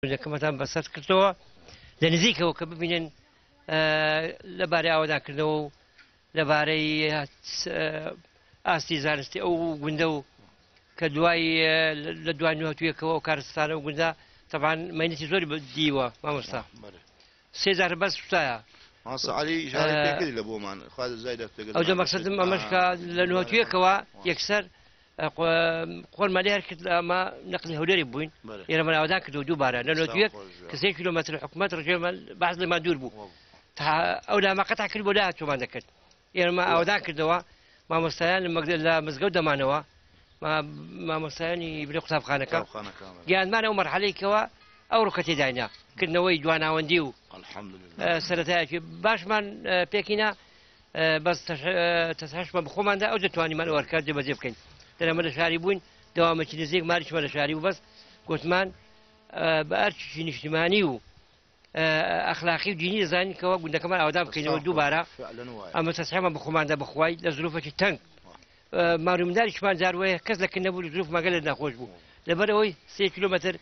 گوندەکەمەتان بەسەر کردەوە لە نزیکەوە کە ببینن لەبارەی ئاوەدانکردنەوە و لەبارەی ئاستی زانستی ئەو گوندە و کە دوای لە دوای نوهتویەکەوە ئەو کارستانە و گوندە تەبان مەینەتی زۆری دیوە مامۆستا سێ جار بەس سوتایە. مامۆستا عەلی ئیشارەی پێکردی لە بۆمان خوا جزای دەست پێکرد. ئەوجا مەقسەدم ئەمەش کە لە نوهتویەکەوە یەکسەر خۆرمان لێ هەرکرد ئەمە نەقلی هەولێری بووین ئێرەمان ئاوادان کردەوە دووبارە لە 91 کە سێ کیلۆمەتر حکومەت ڕژێمە بەعس لێمان دوور بوو تا ئەو لاما قەتع کرد بۆ لا چۆمان دەکرد ئێرەمان ئاوادان کردەوە مامۆستایان لە مزگەوت دەمانەوە مامۆستایانی برێ قوتابخانەکە گەیاندمان ئەو مەرحەلەی کەوە ئەو ڕوکە تێداینا کردنەوەی دواناوەندی و سەرەتایەکی باشمان پێکینا بەس تەسحشمان بخۆماندا ئەو دەتوانیمان ئەو ئەرکە جێبەجێ بکەین دەرەمە لە شاری بووین دەوامێکی نزیک ماریشمان لە شاری بوو بەس گوتمان بە ئەرکێکی نیشتیمانی و ئەخلاقی و دینی دەزانین کەەوە گوندەکەمان ئاودان بکەینەوە دووبارە ئەمە تەسحمان بخۆماندا بخوای لە زروفێکی تەنگ مار و منداریشمان جار وەیە کەس لە کن نەبوو زروفمان گەلێک ناخۆش بوو لەبەرئەوەی سێ کیلۆمەتر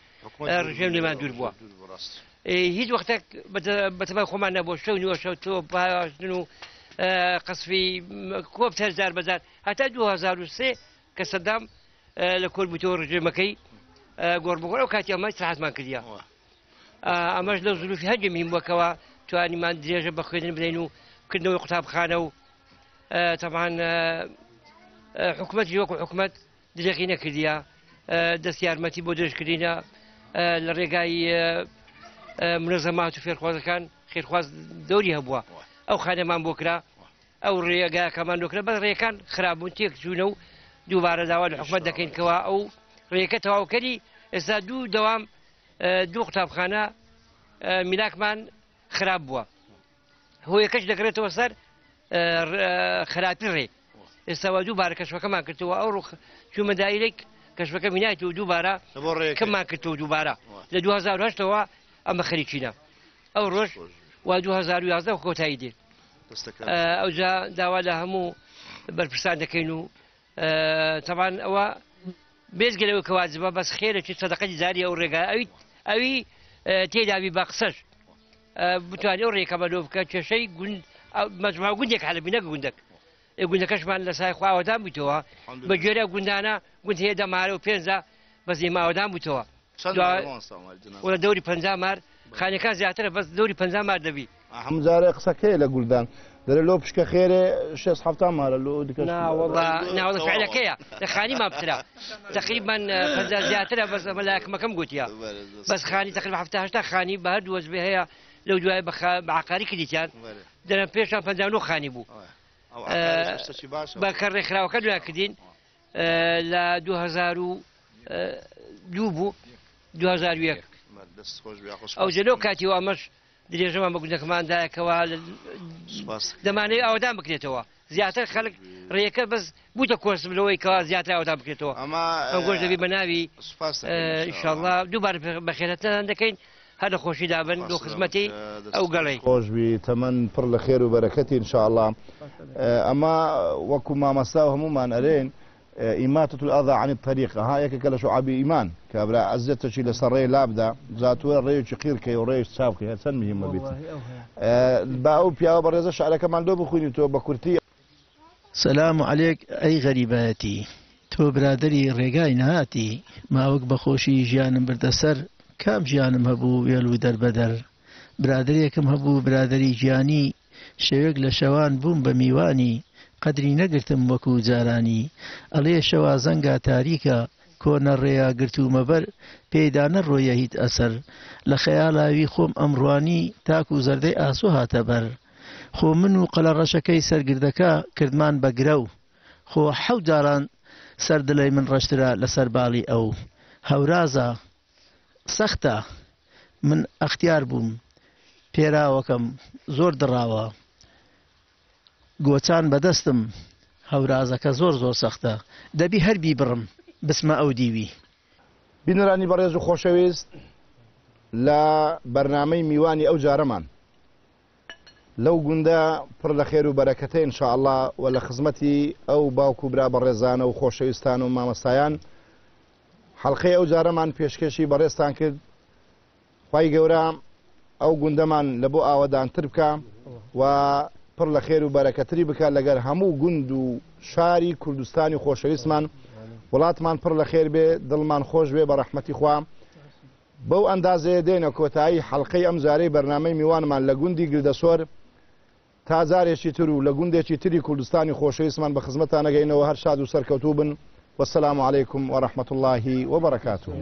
ڕژێم لێمان دوور بووە هیچ وەختێک بەتەمای خۆمان نەبوو شەو نیوە شەو تۆ پاشتن و قەسفی کۆپتەر جار بەجار هەتا 2003 کە سەدام لە کۆر بووتەوە ڕژێمەکەی گۆڕ بگۆڕ ئەو کاتی ئەمە سەحەتمان کردیە ئەمەش لە زروفی هەندێک مهم بووەکەوە توانیمان درێژە بە خوێندن بدەین و کردنەوەی قوتابخانە و تەبان حکومەتی وەکو حکومەت درێغی نەکردیە دەست یارمەتی بۆ درێژکردینە لە ڕێگای منەزەمات و فێرخوازەکان خێرخواز دەوری هەبووە ئەو خانەمان بۆ کرا ئەو ڕێگاکەمان بۆ کرا بەس ڕێکان خراپبوون تێک چوونە و دووبارە داوا لە حکومەت دەکەین کەوا ئەو ڕێکە تەواوکەری ئێستا دوو دەوام دوو قوتابخانە میلاکمان خراپ بووە هۆیەکەش دەگرێتەوە سەر خراپی ڕێ ئێستا وا دووبارە کەشفەکەمان کردەوە ئەو ڕوخ چوومە دایرێک کەشفەکە مینایت و دووبارە کەمان کردەوە دووبارە لە 2008ەوە ئەمە خەریکینە ئەو ڕۆژ و 2011 کۆتایی دێت ئەوجا داوا لە هەموو بەرپرسان دەکەین و تەبان ئەوە بێجگە لەوەی کە واجبە بەس خێرێکی سەدەقەی جاری ئەو ڕێگا ئەوی ئەوی تێداوی بە قسەش بتوانێت ئەو ڕێکە بەلۆ بکە کێشەی گوند مەجموعە گوندێک حەلەبی نەک گوندەک گوندەکەشمان لە سای خواوەدان بوویتەوە بە گوێرە گوندانە گوند هەیە دەمارە و پێنجە بەس ئێمە ئاوەدان بوویتەوە وە دەوری 50 مار خانەکان زیاترە بەس دەوری 50 مار دەبی هەموو جارێ قسەکەی لە گوردان دەرێ لۆ پشکە خێرێ شێست حەفتا مارە لۆ دیکەش ناوەڵا ناوەڵا فعلەکەیە لە خانی ما بترە تقریبا 50 زیاترە بەس ئەمە لاکمەکەم گوتیە بەس خانی تقریبا 70 80 خانی بە هەردوو وەجبێ هەیە لەو دوای بە عقاری کردیتیان دەرم پێشان 59 خانی بوو بە کە ڕێکخراوەکە دوای کردین لە 2002 بوو 2001 ئەو جەلۆ کاتی و ئەمەش درێژەمان بە گوندەکەمان دایە کەوا دەمانەوێت ئاوەدان بکرێتەوە زیاتر خەڵک ڕێیەکە بەس بووتە کۆسپ لەوەی کەوا زیاتر ئاوەدان بکرێتەوە ئەمە ئەم گۆش دەبی بە ناوی سوپاس دەکەین ئینشاڵڵا دووبارە بەخێرهاتنتان دەکەین هەر لە خۆشیدا بن بۆ خزمەتی ئەو گەڵی. خۆش بی تەمەن پڕ لە خێر و بەرەکەتی ان شاء اللە ئەمە وەکو مامەستا و هەموومان ئەرێن ئیماتە الاذی عن الطریق ئەها یەکێکە لە شوعابی ئیمان کابرا ئەزیەتەکی لەسەر ڕێ لابدا جا تۆ ڕێیەکی قیر کەی و ڕێیش چاپ کەی هەر چەند مهمە بیت با ئەو پیاوە بەڕێزە شعرەکەمان لۆ بخوینی تۆ بە کورتی. سەلام عەلێک ئەی غەریبایەتی تۆ برادەری ڕێگای نەهاتی ماوەک بەخۆشی ژیانم بردە سەر کام ژیانم هەبوو وێل و دەربەدەر برادەرێکم هەبوو برادەری گیانی شەوێک لە شەوان بووم بە میوانی قەدری نەگرتم وەکو جارانی ئەڵێ شەوا زەنگا تاریکە کۆنە ڕێیا گرتوومە بەر پێیدا نەڕۆیە هیچ ئەسەر لە خەیاڵاوی خۆم ئەمڕوانی تاکو زەردەی ئاسۆ هاتە بەر خۆ من و قەلەڕەشەکەی سەر گردەکە کردمان بە گرەو خۆ حەوت جاران سەر دڵی من ڕەشترە لەسەر باڵی ئەو هەورازە سەختە من ئەختیار بووم پێراوەکەم زۆر دڕاوە گۆچان بەدەستم هەورازەکە زۆر زۆر سەختە دەبی هەر بیبڕم بچمە ئەو دیوی. بینەرانی بەڕێز و خۆشەویست لە بەرنامەی میوانی ئەو جارەمان لەو گوندە پڕ لە خێر و بەرەکەتە ان شاء اللە و لە خزمەتی ئەو باوک و برا بەڕێزانە و خۆشەویستان و مامەستایان حەڵقەی ئەو جارەمان پێشکێشی بەڕێزتان کرد. خوای گەورە ئەو گوندەمان لە بۆ ئاوەدانتر بکا و پڕ لە خێر و بەرەکەتری بکا لەگەر هەموو گوند و شاری کوردستانی خۆشەویستمان. وڵاتمان پڕ لە خێر بێ، دڵمان خۆش بێ بە ڕەحمەتی خوا. بەو ئەندازەیە دێینە کۆتایی حەڵقەی ئەم جارەی بەرنامەی میوانمان لە گوندی گردەسۆر. تا جارێکی تر و لە گوندێکی تری کوردستانی خۆشەویستمان بە خزمەتتان ئەگەینەوە هەر شاد و سەرکەوتوو بن. والسلام علیکم ورحمة اللە وبرکاته.